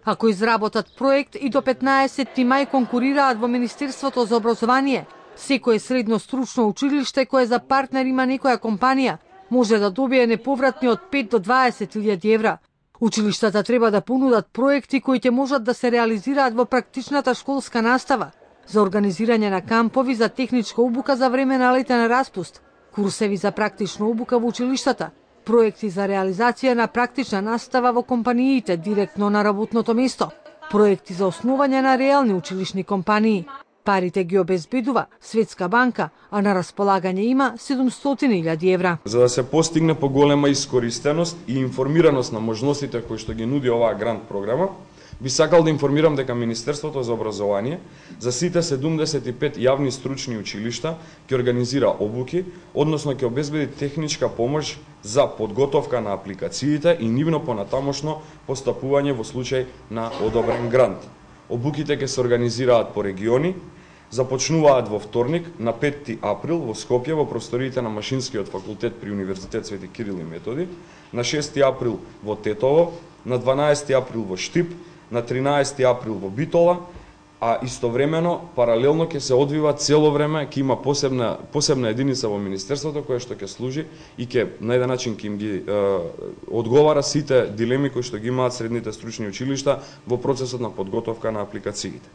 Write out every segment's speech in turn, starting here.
Ако изработат проект и до 15 мај конкурираат во Министерството за образование, секое средно стручно училиште кое за партнер има некоја компанија може да добие неповратни од 5 до 20.000 евра. Училиштата треба да понудат проекти кои ќе можат да се реализираат во практичната школска настава, за организирање на кампови за техничка обука за време на летен распуст, курсеви за практична обука во училиштата, проекти за реализација на практична настава во компаниите директно на работното место, проекти за основање на реални училишни компании. Парите ги обезбедува Светска банка, а на располагање има 700.000 евра. За да се постигне поголема искористеност и информираност на можностите кои што ги нуди оваа грант програма, би сакал да информирам дека Министерството за образование за сите 75 јавни стручни училишта ќе организира обуки, односно ќе обезбеди техничка помош за подготовка на апликациите и нивно понатамошно постапување во случај на одобрен грант. Обуките ќе се организираат по региони, започнуваат во вторник на 5 април во Скопје во просториите на Машинскиот факултет при Универзитет Свети Кирил и Методи, на 6 април во Тетово, на 12 април во Штип, на 13 април во Битола, а истовремено, паралелно ќе се одвива цело време, ќе има посебна единица во Министерството која што ќе служи и ќе на еден начин ќе им ги одговара сите дилеми кои што ги имаат средните стручни училишта во процесот на подготовка на апликациите.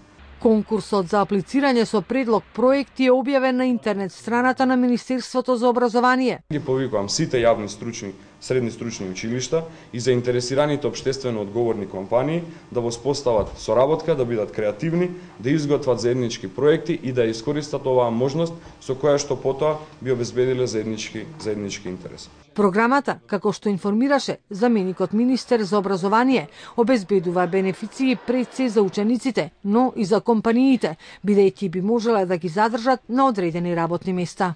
Конкурсот за аплицирање со предлог проекти е објавен на интернет страната на Министерството за образование. Ги повикувам сите јавни средни стручни училишта и заинтересираните општествено одговорни компании да воспостават соработка, да бидат креативни, да изготват заеднички проекти и да искористат оваа можност со која што потоа би обезбедиле заеднички интерес. Програмата, како што информираше заменикот министер за образование, обезбедува бенефиции пред се за учениците, но и за компаниите, бидејќи би можеле да ги задржат на одредени работни места.